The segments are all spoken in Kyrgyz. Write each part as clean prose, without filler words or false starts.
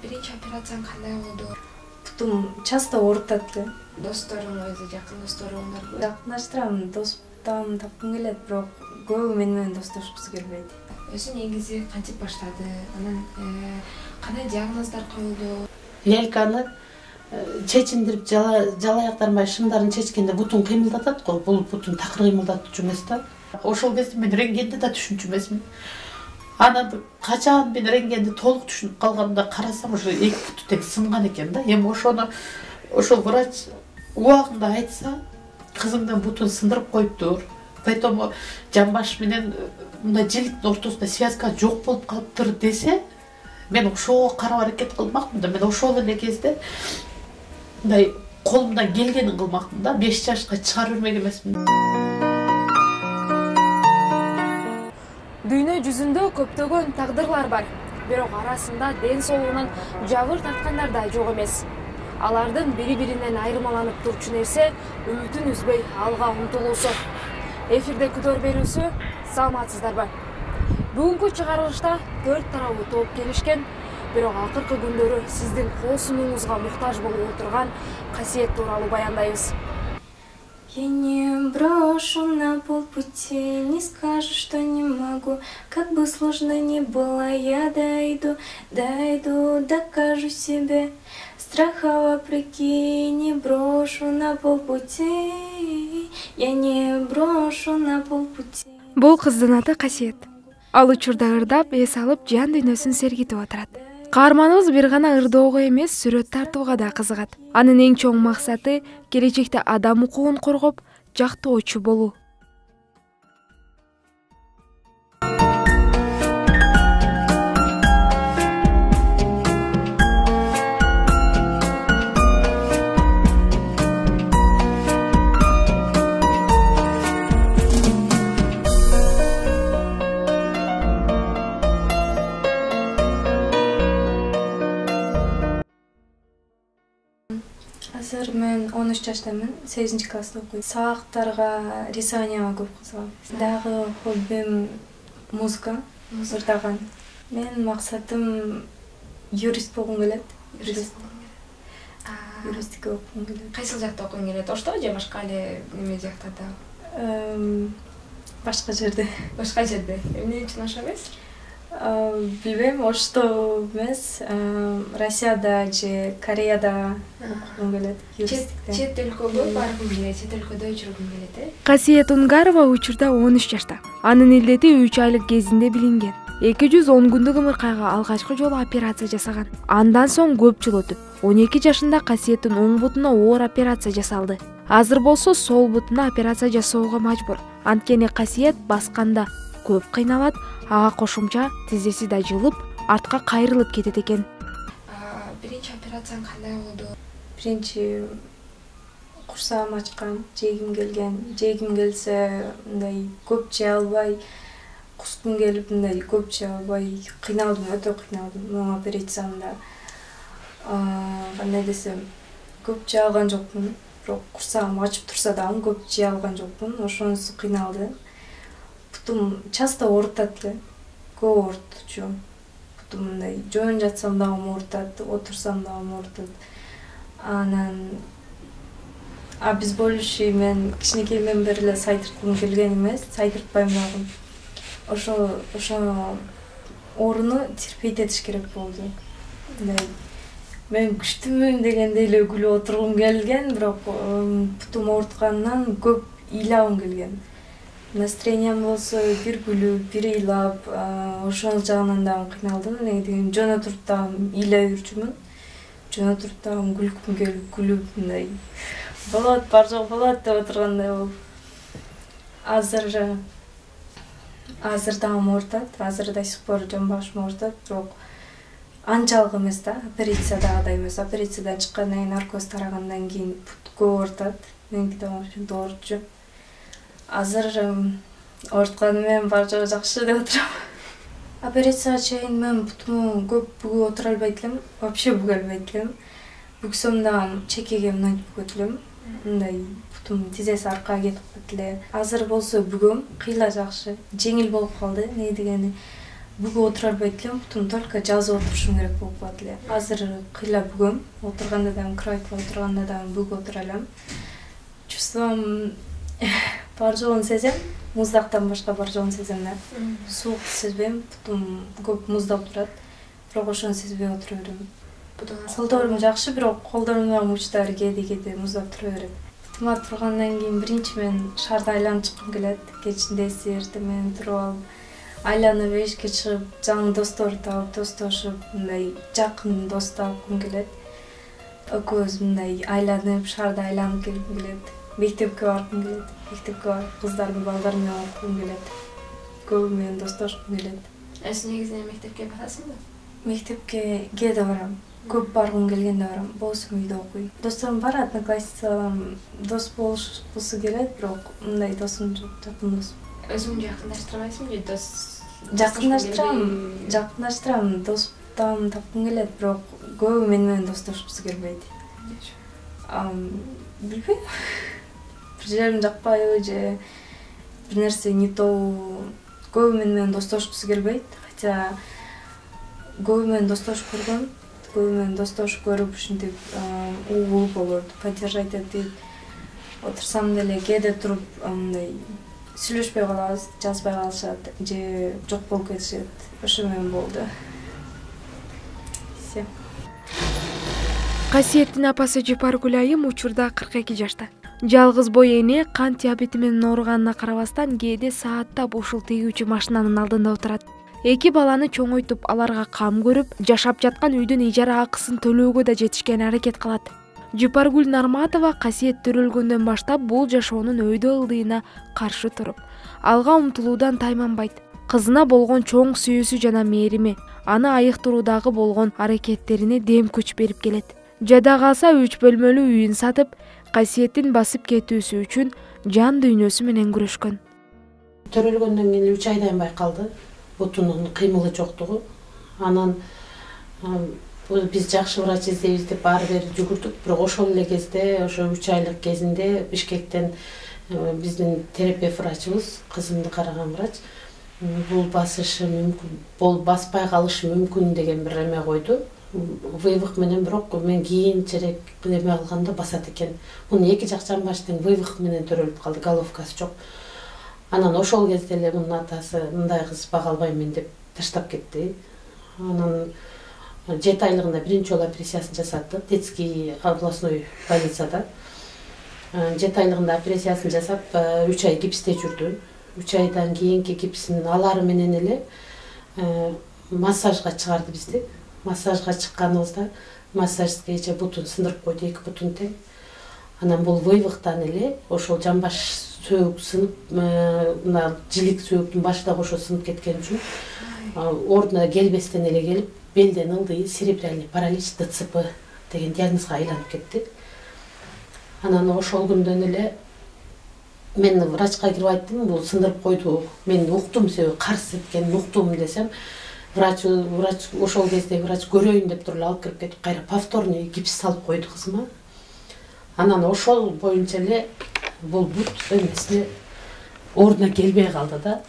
Биринчи операцияң кандай болду? Бутум часто оорутат эле. Досторуң өзү жакын досторуңдарбы? Жакындаштырам, достуктан тапкым келет, бирок көбү мени менен достошкусу келбейт. Өзү негизи кантип баштады? Анан кандай диагноздар коюлду? Лельканы чечиндирип жалаяктармай шымдарын чечкенде бутун кыймылдатат го. Бул бутун такыр кыймылдатчу эмес да. Ошол кезде мен рентгенди да түшүнчү эмесмин. Анан качан мен рентгенди толук түшүнүп калганда карасам, ошо эки буту тең сынган экен да. Эми ошол врач убагында айтса, кызыңдын бутун сындырып коюптур. Поэтому жамбаш менен мындай жиликтин ортосунда связка жок болуп калыптыр десе, мен ошого карап аракет кылмакмын да. Мен ошол эле кезде мындай колумдан келгенин кылмакмын да. 5 жашка чыгарып бермек эмесмин. Дүйнө жүзүндө көптөгөн тагдырлар бар, бирок арасында ден соолугунан жабыр тарткандар да жок эмес. Алардын бири-биринен айырмаланып турчу нерсе үмүтүн үзбөй алга умтулуусу. Эфирде күдөр берүүсү, саламатсыздарбы? Бүгүнкү чыгарылышта 4 тарабы топ келишкен, бирок акыркы күндөрү сиздин кол сунууңузга муктаж болуп отурган касиет тууралуу баяндайбыз. Я не брошу на полпути, не скажу, что не могу. Как бы сложно ни было, я дойду, докажу себе. Страха вопреки не брошу на полпути. Я не брошу на полпути. Бул кыздын аты Касиет. Ал учурда ырдап, эс алып, жан дүйнөсүн сергитип отурат. Каарманыбыз бир гана ырдоого эмес, сүрөт тартууга да кызыгат. Анын эң чоң максаты келечекте адам укугун коргоп, жактоочу болуу. Азыр мен 13 жаштамын, 8-класста окуйм. Сабактарга, рисованияга көп кызыгам. Дагы хоббим музыка, ырдаган. Менин максатым юрист болгум келет. Юристика окугум келет. Кайсыл жакта окугуң келет? Ошто же башка эле неме жактарда? Башка жерде. Башка жерде. Эмне үчүн ошо эмес? Билбейм, ошто эмес, Россияда же Кореяда окугум келет. Чет өлкөгө баргым келет, чет өлкөдө жүргүм келет, Касиет Унгарова учурда 13 жашта. Анын илдети 3 айлык кезинде билинген. 210 күндүк ымыркайга алгачкы жолу операция жасаган. Андан соң көп жыл өтүп, 12 жашында Касиеттин оң бутуна оор операция жасалды. Азыр болсо сол бутуна операция жасоого мажбур. Анткени Касиет басканда көп кыйналат, ага кошумча тизеси да жылып, артка кайрылып кетет экен. Биринчи операцияң кандай болду? Биринчи курсагым ачкан, жегим келсе, мындай көп жей албай, кускум келип, мындай көп жей албай, кыйналдым, өтө кыйналдым. Моң операциямда кандай десем, көп жей алган жокмун, бирок курсагым ачып турса дагы көп жей алган жокмун, ошонусу кыйналды. Бутум часто оорутат эле, көп оорутчу. Бутум мындай жоон жатсам дагы оорутат, отурсам дагы оорутат. Анан обезболивающий мен кичинекейимден бери эле сайдырткым келген эмес, сайдыртпайм дагы. Ошо ооруну терпеть этиш керек болду. Мындай мен күчтүүмүн дегендей эле күлүп отургум келген, бирок бутум оорутканынан көп ыйлабым келген. Настроениям болсо бир күлүп, бир ыйлап, ошол жагынан дагы кыйналдым. Деген жона туруп дагы ыйлай жүрчүмүн. Жона туруп дагы күлкүм келип, күлүп мындай болот, бар жок болот деп отургандай болуп. Азыр дагы оорутат, азыр да сих пор жамбашым оорутат, бирок анчалык эмес да, операциядагыдай эмес. Операциядан чыккандан кийин наркоз тарагандан кийин көп оорутат. Меники да ошентип оорутчу. Азыр оортканым менен бар жогу жакшы деп отурам. Операцияга чейин мен бутуму көп бүгүп отура албайт элем, вообще бүгө албайт элем. Бүгсөм дагы чекеге мынтип бүгөт элем. Мындай бутум тизеси аркага кетип калат эле. Азыр болсо бүгөм, кыйла жакшы, жеңил болуп калды. Не дегени бүгүп отура албайт элем, бутун только жазып отурушум керек болуп калат эле. Азыр кыйла бүгөм, отурганда дагы кроватька отурганда дагы бүгүп отура алам. Чувством бар жогун сезем, муздактан башка бар жогун сезем да. Суук сезбейм, бутум көп муздап турат, бирок ошону сезбей отура берем. Колдорум жакшы, бирок колдорумдагы мучтар кээде муздап тура берет. Тыма тургандан кийин биринчи мен шаарда айланып чыккым келет. Кечинде эртең туруп алып, айланып эшикке чыгып, жаңы досторду таап, достошуп, мындай жакын дос тапкым келет. Экөөбүз мындай айланып, шаарда айланып келгим келет. Мектепке баргым келет. Мектепке барып, кыздардын балдары менен окугум келет. Көбү менен достошкум келет. Сен негизинен мектепке барасыңбы? Мектепке кээде барам. Көп баргым келгенде барам. Болсо үйдө окуйм. Досторум бар, одноклассницаларым дос болушкусу келет, бирок мындай досум жок, жакын дос. Өзүңдү жакындаштырбайсыңбы? Жакындаштырам, досторум тапкым келет, бирок көбү менен достошкусу келбейт. Билбейм. Бир жерим жакпайбы же бир нерсе не то. Көбү менен достошкусу келбейт. Хотя көбү менен достошуп көргөм. Көбү менен достошуп көрүп ушинтип угулуп болот, поддержать этип отурсам деле кээде туруп мындай сүйлөшпөй калабыз, жазбай калышат же жок болуп кетишет. Ошо менен болду. Все. Касиеттин апасы Жапаргүл айым учурда 42 жашта. Жалгыз бой эне кант диабети менен ооруганына карабастан кээде сааттап ушул тегүүчү машинанын алдында отурат. 2 баланы чоңойтуп, аларга кам көрүп, жашап жаткан үйдүн ижара акысын төлөөгө да жетишкен аракет кылат. Жапаргүл Нарматова касиет төрөлгөндөн баштап бул жашоонун өйдө ылдыйына каршы туруп, алга умтулуудан тайманбайт. Кызына болгон чоң сүйүүсү жана мээрими, аны айыктыруудагы болгон аракеттерине дем күч берип келет. Жада калса 3 бөлмөлүү үйүн сатып, касиеттин басып кетүүсү үчүн жан дүйнөсү менен күрөшкөн. Төрөлгөндөн кийин 3 айдан байкалды. Бутунун кыймылы жоктугу. Анан биз жакшы врач издейбиз деп ары бери жүгүрдүк, бирок ошол эле кезде, ошо 3 айлык кезинде Бишкектен биздин терапевт врачыбыз, кызымды караган врач, бул басышы мүмкүн, бул баспай калышы мүмкүн деген бир эме койду. Вывих менен, бирок мен кийинчерээк эме кылганда басат экен. Мунун эки жак жамбаштын вывих менен төрөлүп калды, головкасы жок. Анан ошол кезде эле мунун атасы мындай кыз бага албайм деп таштап кетти. Анан 7 айлыгында биринчи жолу операциясын жасатты, детский областной больницада. 7 айлыгында операциясын жасап, 3 ай гипсте жүрдү. 3 айдан кийинки гипсин алары менен эле массажга чыгарды бизди. Массажга чыкканыбызда массажскийче бутун сындырып койду, 2 бутун тең. Анан бул вывихтан эле ошол жамбаш сөөк сынып, мына жилик сөөктүн башы да ошо сынып кеткен үчүн ордуна келбестен эле келип, белден ылдый церебральный паралич ДЦП деген диагнозго айланып кетти. Анан ошол күндөн эле мен врачка кирип айттым, бул сындырып койду. Мен уктум, себеби карыз эткенин уктум десем, врач ошол кезде врач көрөйүн деп туруп алып кирип кетип, кайра повторный гипс салып койду кызыма. Анан ошол боюнча эле бул бут эмесине ордуна келбей калды да.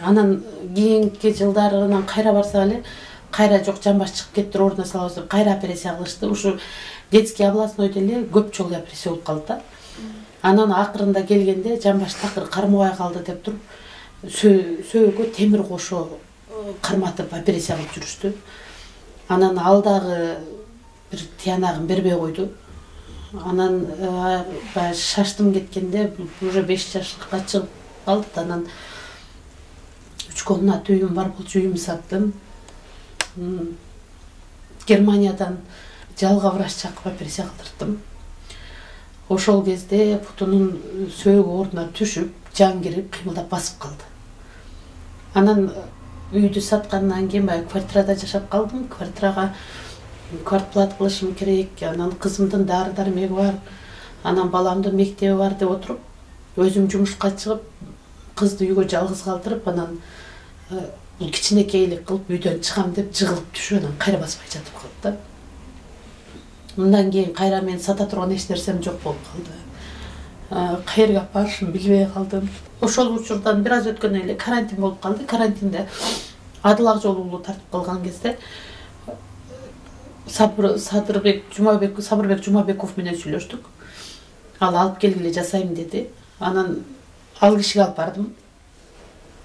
Анан кийинки жылдары анан кайра барсак эле, кайра жок жамбаш чыгып кетти, ордуна салабыз деп кайра операция кылышты. Ушу детский областнойдо эле көп жолу операция болуп калды да. Анан акырында келгенде жамбаш такыр кармабай калды деп туруп, сөөгө темир кошо карматып операция кылып жүрүштү. Анан ал дагы бир тиянагын бербей койду. Анан шаштым кеткенде уже 5 жашка чыгып калды. Анан 3 комната үйүм бар болчу, үйүм саттым. Германиядан жалга врач чакырып операция кылдырдым. Ошол кезде бутунун сөөгү ордуна түшүп, жан кирип, кыймылдап басып калды. Анан үйдү саткандан кийин квартирада жашап калдым. Квартирага квартплат кылышым керек, анан кызымдын дары-дармеги бар, анан баламдын мектеби бар деп отуруп, өзүм жумушка чыгып, кызды үйгө жалгыз калтырып, анан бул кичинекейлик кылып үйдөн чыгам деп жыгылып түшүп, анан кайра баспай жатып калды да. Мындан кийин кайра мен сата турган эч нерсем жок болуп калды. Каерге барышымды билбей калдым. Ошол учурдан бир аз өткөндөн эле карантин болуп калды. Карантинде Адыл Акжолуулу тартып калган кезде Сабырбек Жумабеков менен сүйлөштүк. Ал алып келгиле жасайм деди. Анан ал кишиге алып бардым.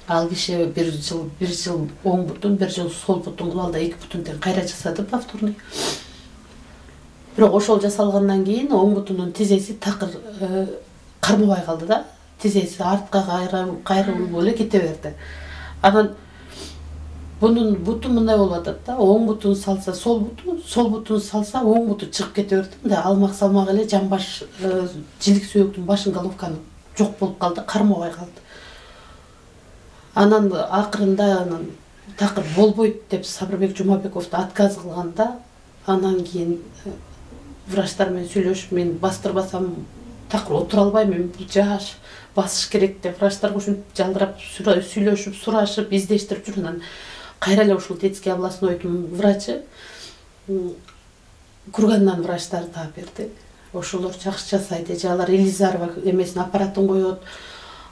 Ал киши бир жыл оң бутун, бир жыл сол бутун кылып алды, 2 бутун тең кайра жасады повторный. Бирок ошол жасалгандан кийин оң бутунун тизеси такыр кармабай калды да. Тизеси артка кайрылып эле кете берди. Анан бунун буту мындай болуп атат да, оң бутун салса сол бутун салса оң буту чыгып кете берди. Мындай алмак салмак эле жамбаш жилик сөөктүн башын головканы жок болуп калды, кармабай калды. Анан акырында такыр болбойт деп Сабырбек Жумабековду отказ кылганда, анан кийин врачтар менен сүйлөшүп, мен бастырбасам такыр отура албайм, мен бул жаш басыш керек деп врачтарга ушинтип жалдырап сүйлөшүп, сурашып, издештирип жүрүп, анан кайра эле ушул детский областнойдун врачы Кургандан врачтар таап берди. Ошолор жакшы жасайт, же алар Елизарова эмесин аппаратын коет.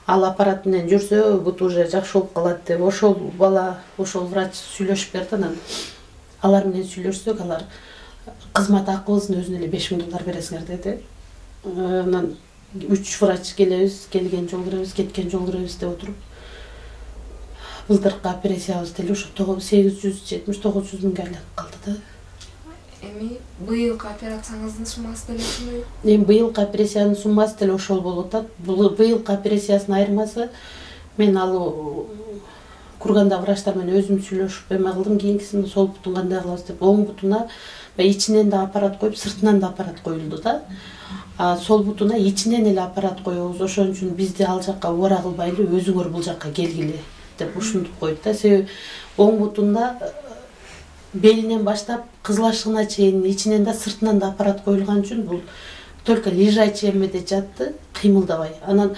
Ал аппарат менен жүрсө, бут уже жакшы болуп калат деп ошол бала, ошол врач сүйлөшүп берди. Анан алар менен сүйлөшсөк, алар кызмат акыбыздын өзүнө эле $5000 бересиңер деди. Анан 3 врач келебиз, келген жол киребиз, кеткен жол киребиз деп отуруп, былтыркы операциябыз деле ушу 870-900 миңге айланып калды да. Эми быйылкы операцияңыздын суммасы деле ушундай? Эми быйылкы операциянын суммасы деле ошол болуп атат. Быйылкы операциясынын айырмасы, мен ал Курганда врачтар менен өзүм сүйлөшүп эме кылдым, кийинкисин сол бутун кандай кылабыз деп, оң бутуна ичинен да аппарат коюп, сыртынан да аппарат коюлду да. Сол бутуна ичинен эле аппарат коебуз, ошон үчүн бизди ал жакка убара кылбайлы, өзүңөр бул жакка келгиле деп ушинтип койду да. Себеби оң бутунда белинен баштап кызыл чейин ичинен да сыртынан да аппарат коюлган үчүн бул только лежачий эмеде жатты, кыймылдабай. Анан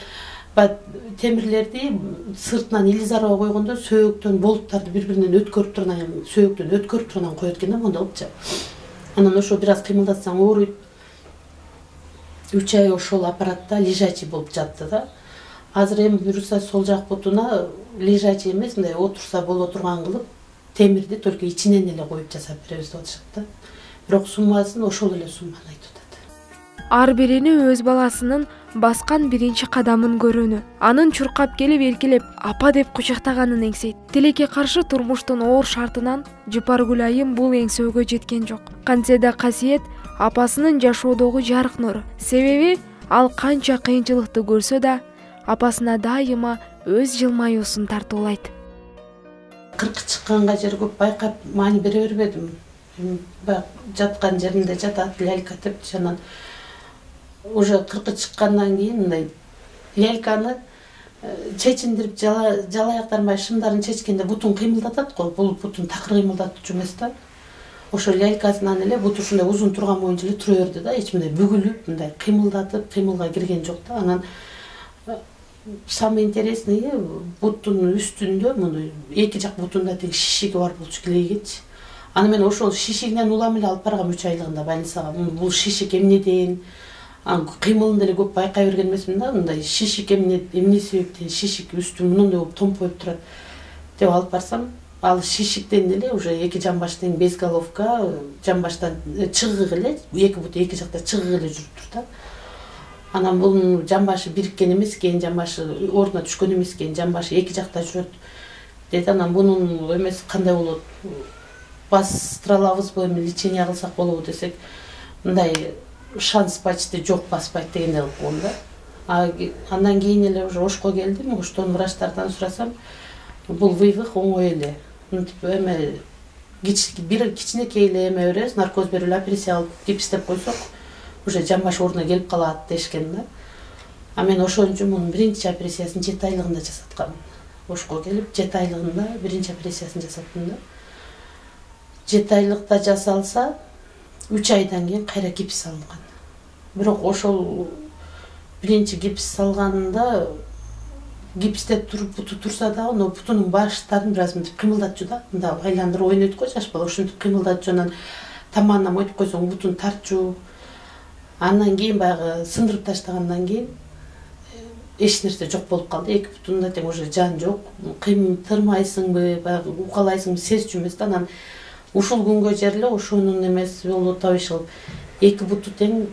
темирлерди сыртынан Елизарова койгондо сөөктөн болуттарды бири-биринен өткөрүп турган, сөөктөн өткөрүп турган коет экен да, мондай кылыпчы. Анан ошо бир аз кыймылдатсаң ооруйт. 3 ай ошол аппаратта лежачий болуп жатты да. Азыр эми буюрса сол жак бутуна лежачий эмес, мындай отурса боло турган кылып, темирди только ичинен эле коюп жасап беребиз деп атышат да. Бирок суммасын ошол эле сумманы айтып атат. Ар биrini өз баласынын баскан биринчи кадамын көрүүнү, анын чуркап келип эркелеп апа деп кучактаганын эңсейт. Тилекке каршы турмуштун оор шартынан Жыпаргүл айым бул эңсөөгө жеткен жок. Кантсе да Касиет апасынын жашоодогу жарык нуру. Себеби ал канча кыйынчылыкты көрсө да, апасына дайыма өз жылмаюусун тартуулайт. 40 чыкканга жер көп байкап маани бере бербедим. Жаткан жеринде жатат, лялька деп, анан уже 40 чыккандан кийин мындай ляльканы чечиндирип жалаяктармай шымдарын чечкенде бутун кыймылдатат го. Бул бутун такыр кыймылдатчу эмес да. Ошо лялькасынан эле буту ушундай узун турган боюнча эле тура берди да, эч мындай бүгүлүп, мындай кыймылдатып, кыймылга кирген жок да. Анан самый интересный буттун үстүндө мындай эки жак бутунда тең шишиги бар болчу, килейгечи. Аны мен ошол шишигинен улам эле алып баргам 3 айлыгында больницага. Бул шишик эмнеден, кыймылын деле көп байкай берген эмесмин да. Мындай шишик эмне себептен шишик үстү мындай болуп томпоюп турат деп алып барсам, ал шишиктен эле уже эки жамбаш тең без головка, жамбаштан чыгык эле, эки бут эки жакта чыгык эле жүрүп тур да. Анан бул жамбашы бириккен эмес экен, жамбашы ордуна түшкөн эмес экен, жамбашы эки жакта жүрөт деди. Анан бунун эмеси кандай болот? Бастыра алабызбы, эми лечение кылсак болобу десек, мындай шанс почти жок, баспайт дегендей кылып койгон да. Андан кийин эле уже Ошко келдим, Оштон врачтардан сурасам, бул вывих оңой эле. Мынтип эме бир кичинекей эле эме беребиз, наркоз берип эле операция кылып гипстеп койсок, уже жамбаш ордуна келип калат дешкен да. А мен ошон үчүн мунун биринчи операциясын 7 айлыгында жасаткам. Ошко келип 7 айлыгында биринчи операциясын жасаттым да. 7 айлыкта жасалса, 3 айдан кийин кайра гипс салынган. Бирок ошол биринчи гипс салганында гипсте туруп буту турса дагы, но бутунун баштарын бир аз мынтип кыймылдатчу да. Мында айландырып ойнойт го жаш бала, ушинтип кыймылдатчу, анан таманына мойтуп койсоң бутун тартчу. Андан кийин баягы сындырып таштагандан кийин эч нерсе жок болуп калды. Эки бутунда тең уже жан жок. Тырмайсыңбы, баягы укалайсыңбы сезчү эмес да. Анан ушул күнгө жерле ошонун эмеси болуп табышып эки буту тең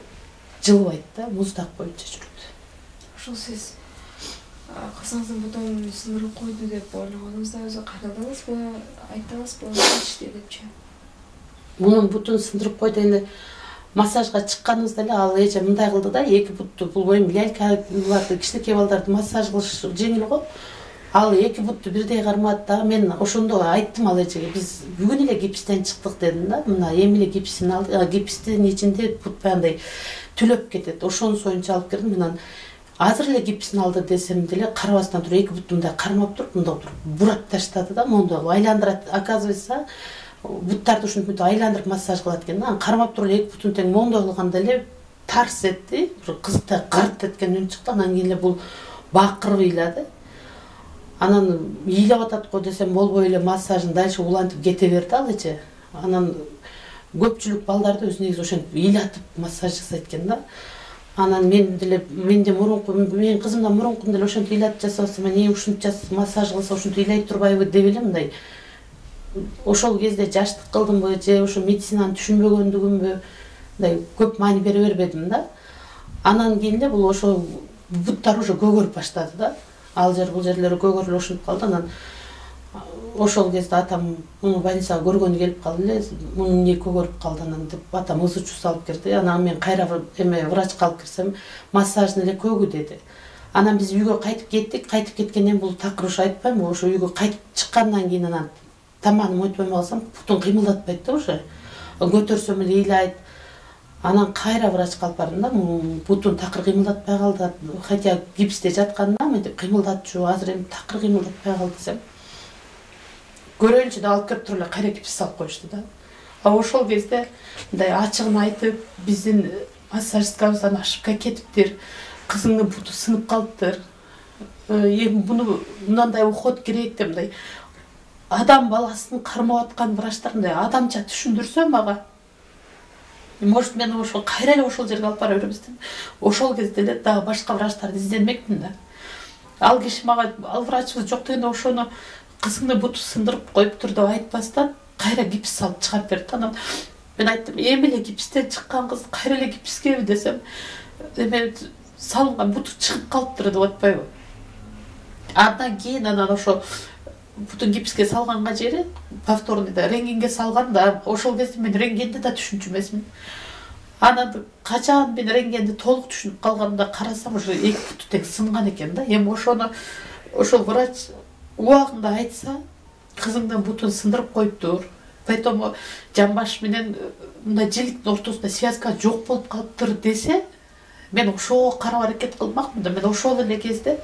жылбайт да, муздак боюнча жүрөт. Ошол сиз кызыңыздын бутун сындырып койду деп ойлогонуңузда өзү кайрылдыңызбы, айттыңызбы, ичти депчи? Мунун бутун сындырып койду дегенде массажга чыкканыбызда эле ал эже мындай кылды да, эки бутту бул эми лялькаларды кичинекей балдарды массаж кылыш жеңил го. Ал эки бутту бирдей кармады да. Мен ошондо айттым ал эжеге, биз бүгүн эле гипстен чыктык дедим да. Мына эми эле гипсин алды. Гипстин ичинде бут баягындай түлөп кетет. Ошону союнча алып келдим. Менен азыр эле гипсин алды десем деле карабастан туруп эки бутту мындай кармап туруп, мындай туруп бурап таштады да. Мондо айландырат. Оказывается, буттарды ушинтип айландырып массаж кылат экен да. Кармап туруп эки бутун тең мондой кылганда эле тарс этти. Бир кызыктай гырт эткен үн чыкты. Анан кийин эле бул бакырып ыйлады. Анан ыйлап атат го десем болбой эле массажын дальше улантып кете берди ал эже. Анан көпчүлүк балдарды өзү негизи ошентип ыйлатып массаж жасайт экен да. Анан менде мурунку менин кызымдан мурункунда эле ошентип ыйлатып жасабаса, мен ушинтип массаж кылса ушинтип ыйлай турбайбы деп эле мындай. Ошол кезде жаштык кылдымбы же ошо медицинаны түшүнбөгөндүгүмбү, мындай көп маани бере бербедим да. Анан кийин эле бул ошо буттар уже көгөрүп баштады да. Ал жер бул жерлери көгөрүп ошентип калды. Анан ошол кезде атам муну больницага көргөнү келип калды эле. Мунун эмне көгөрүп калды анан деп атам ызы чуу салып кирди. Анан мен кайра врачка алып кирсем, массажын эле көгү деди. Анан биз үйгө кайтып кеттик. Кайтып кеткенден бул такыр ушу айтпаймынбы, ошо үйгө кайтып чыккандан кийин анан тамагын мойнтпой калсам, бутун кыймылдатпайт да уже. Көтөрсөм эле ыйлайт. Анан кайра врачка алып бардым да, бутун такыр кыймылдатпай калды. Хотя гипсте жатканда мынтип кыймылдатчу, азыр эми такыр кыймылдатпай калды десем. Көрөйүнчү деп алып келип туруп эле кайра гипс салып коюшту да. А ошол кезде мындай ачыгын айтып, биздин массажисткабыздан ошибка кетиптир. Кызыңдын буту сынып калыптыр. Эми буну мындай уход керек деп мындай адам баласын кармап аткан врачтар мындай адамча түшүндүрсө мага. Может, мен ошол кайра эле ошол жерге алып бара беребиз деп. Ошол кезде эле дагы башка врачтарды изденмекмин да. Ал киши мага, ал врачыбыз жок дегенде ошону кызыңдын буту сындырып коюптур деп айтпастан кайра гипс салып чыгарып берди. Анан мен айттым, эми эле гипстен чыккан кыз кайра эле гипскеби десем, эме салынган буту чыгып калыптыр деп атпайбы. Андан кийин анан ошо бутун гипске салганга жери повторный да рентгенге салганда, ошол кезде мен рентгенди да түшүнчү эмесмин. Анан качан мен рентгенди толук түшүнүп калганда карасам, ошо эки буту тең сынган экен да. Эми ошону ошол врач убагында айтса, кызыңдын бутун сындырып коюптур. Поэтому жамбаш менен мындай жиликтин ортосунда связка жок болуп калыптыр десе, мен ошого карап аракет кылмакмын да. Мен ошол эле кезде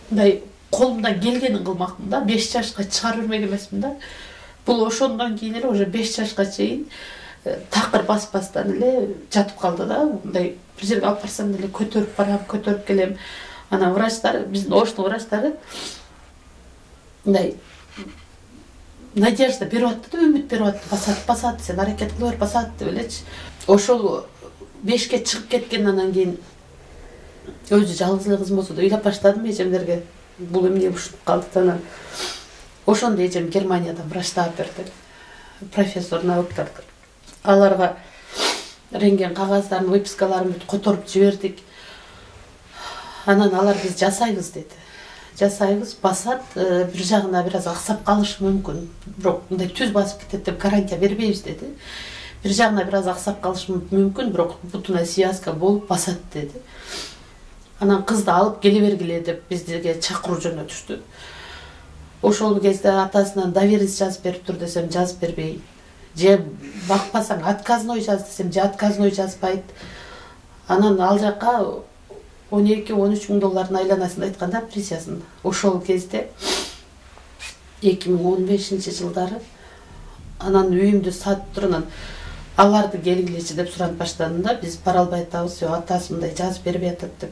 мындай колумдан келгенин кылмакмын да. 5 жашка чыгарып бермек эмесмин да. Бул ошондон кийин эле уже 5 жашка чейин такыр баспастан эле жатып калды да. Мындай бир жерге алып барсам деле көтөрүп барам, көтөрүп келем. Анан врачтар, биздин оштун врачтары мындай надежда берип атты да, үмүт берип атты. Басат, сен аракет кыла бер, басат деп элечи. Ошол 5ке чыгып кеткенден кийин өзү жалгыз эле кызым болсо да ыйлап баштадым эжемдерге. Бул эмне ушинтип калды. Анан ошондо эжем Германиядан врач таап берди. Профессор науктар. Аларга рентген кагаздарын, выпискаларын которуп жибердик. Анан алар биз жасайбыз деди. Жасайбыз, басат, бир жагына бир аз аксап калышы мүмкүн. Бирок мындай түз басып кетет деп гарантия бербейбиз деди. Бир жагына бир аз аксап калышы мүмкүн, бирок бутуна связка болуп басат деди. Анан кызды алып келе бергиле деп бизге чакыруу жөнөтүштү. Ошол кезде атасынан доверенность жазып берип тур десем жазып бербей. Же бакпасаң отказной жаз десем, же отказной жазбайт. Анан ал жака 12-13 миң доллардын айланасын айтканда присясын. Ошол кезде 2015-жылдары анан үйүмдү сатып турган аларды келгилечи деп суранып баштадым. Биз бара албай атабыз, атасы мындай жазып бербей атат деп.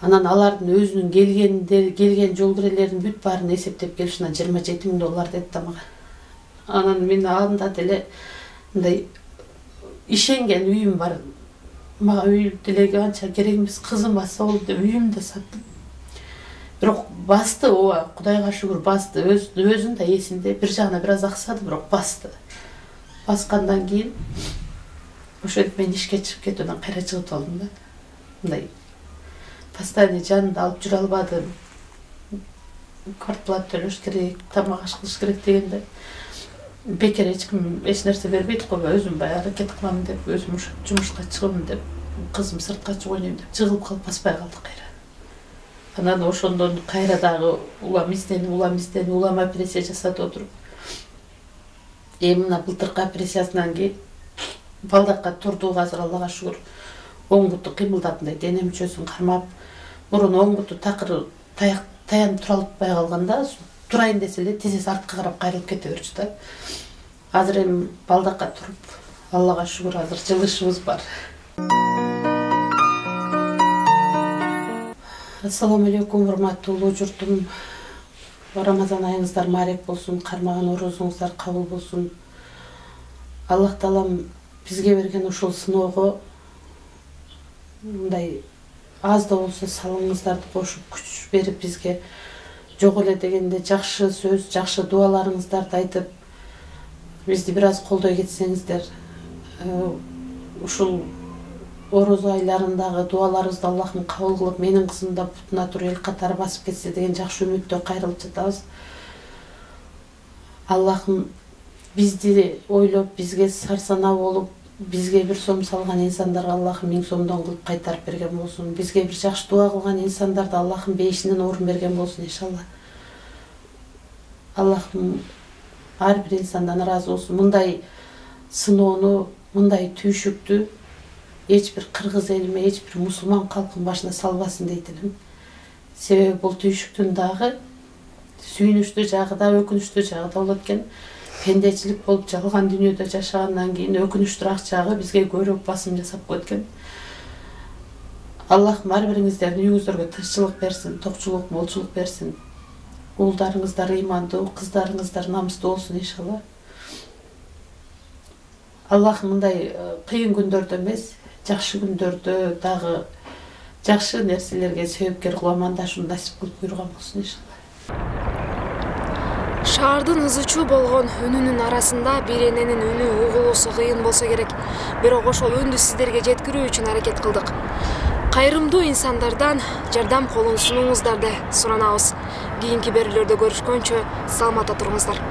Анан алардын өзүнүн келген жол кирелерин бүт баарын эсептеп келишинен 27 миң доллар деди да мага. Анан мен анда деле мындай ишенген үйүм бар. мага үй делеги анча керек эмес, кызым басса болду деп үйүмдү саттым. Бирок басты, ооба, Кудайга шүгүр басты. Өзүн да эсинде, бир жагына бир аз аксады, бирок басты. Баскандан кийин ошентип мен ишке чыгып кетүүдөн кайра чыгып алдым да. Мындай постоянно жанымда алып жүрө албадым. Квартплата төлөш керек, тамак аш кылыш керек дегенде бекер эч ким эч нерсе бербейт го, өзүм баягы аракет кылам деп, өзүм жумушка чыгам деп, кызым сыртка чыгып ойнойм деп жыгылып калып баспай калдык кайра. Анан ошондон кайра дагы улам операция жасатып отуруп. Мына былтыркы операциясынан кийин балдакка турдук, азыр Аллага шүгүр. Оң буту кыймылдап, мындай дене мүчөсүн кармап, мурун оң буту такыр таянып тура албай калганда, турайын десе эле тизеси артка карап кайрылып кете берчү да. Азыр эми балдакка туруп, Аллага шүгүр, азыр жылышыбыз бар. Ассаламу алейкум, урматтуу журтум. Рамазан айыңыздар марек болсун, кармаган орозуңуздар кабыл болсун. Аллах таалам бизге берген ушул сыноого мындай аз да болсо салымыңыздарды кошуп, күч берип бизге жок эле дегенде жакшы сөз, жакшы дуаларыңыздарды айтып, бизди бир аз колдой кетсеңиздер, ушул орозо айларындагы дуаларыбызды Аллахым кабыл кылып, менин кызым да бутуна туруп эл катары басып кетсе деген жакшы үмүттө кайрылып жатабыз. Аллахым бизди ойлоп, бизге сарсанаа болуп, бизге бир сом салган инсандарга Аллахым 1000 сомдон кылып кайтарып берген болсун. Бизге бир жакшы дуа кылган инсандарды Аллахым бейишинен орун берген болсун иншалла. Аллахым ар бир инсандан ыраазы болсун. Мындай сыноону, мындай түйшүктү эч бир кыргыз элиме, эч бир мусулман калкын башына салбасын дейт элем. Себеби бул түйшүктүн дагы сүйүнүчтүү жагы да, өкүнүчтүү жагы да болот экен. Пендечилик болуп жалган дүйнөдө жашагандан кийин өкүнүчтүүрөөк жагы бизге көбүрөөк басым жасап коет экен. Аллахым ар бириңиздердин үйүңүздөргө тынччылык берсин, токчулук, молчулук берсин. Уулдарыңыздар ыймандуу, кыздарыңыздар намыстуу болсун иншалла. Аллахым мындай кыйын күндөрдө эмес, жакшы күндөрдө дагы жакшы нерселерге себепкер кылып амандашууну насип кылып буйруган болсун иншалла. Шаардын ызычуу болгон үнүнүн арасында бир эненин үнү угулуусу кыйын болсо керек. Бирок ошол үндү сиздерге жеткирүү үчүн аракет кылдык. Кайрымдуу инсандардан жардам колун сунууңуздарды суранабыз. Кийинки берүүлөрдө көрүшкөнчө саламатта туруңуздар.